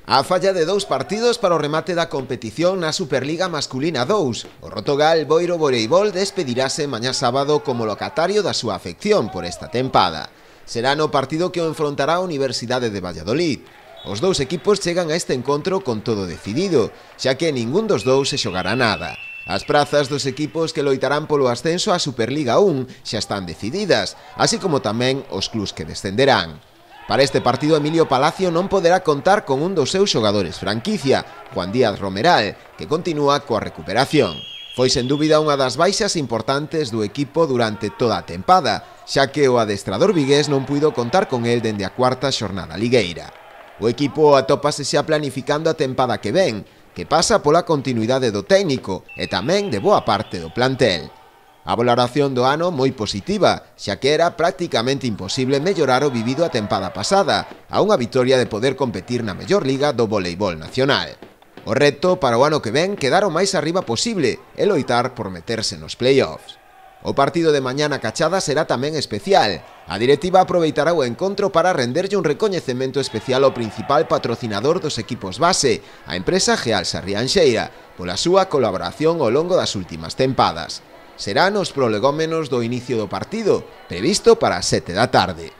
A falla de 2 partidos para o remate da competición na Superliga Masculina 2, o Rotogal Boiro Voleibol despedirase mañá sábado como locatario da súa afección por esta tempada. Será no partido que o enfrontará a Universidade de Valladolid. Os dous equipos chegan a este encontro con todo decidido, xa que ningún dos dous se xogará nada. As prazas dos equipos que loitarán polo ascenso á Superliga 1 xa están decididas, así como tamén os clubs que descenderán. Para este partido, Emilio Palacio non poderá contar con un dos seus xogadores franquicia, Juan Díaz Romeral, que continúa coa recuperación. Foi sen dúbida unha das baixas importantes do equipo durante toda a tempada, xa que o adestrador vigués non puido contar con el dende a cuarta xornada ligueira. O equipo atópase xa planificando a tempada que ven, que pasa pola continuidade do técnico e tamén de boa parte do plantel. A valoración do ano moi positiva, xa que era prácticamente imposible mellorar o vivido a tempada pasada, a unha vitoria de poder competir na mellor liga do voleibol nacional. O reto para o ano que ven quedar o máis arriba posible e loitar por meterse nos playoffs. O partido de mañá na Cachada será tamén especial. A directiva aproveitará o encontro para renderlle un recoñecemento especial ao principal patrocinador dos equipos base, a empresa Geal Sarrianxeira, pola súa colaboración ao longo das últimas tempadas. Será nos prolegómenos do inicio do partido, previsto para as 7 da tarde.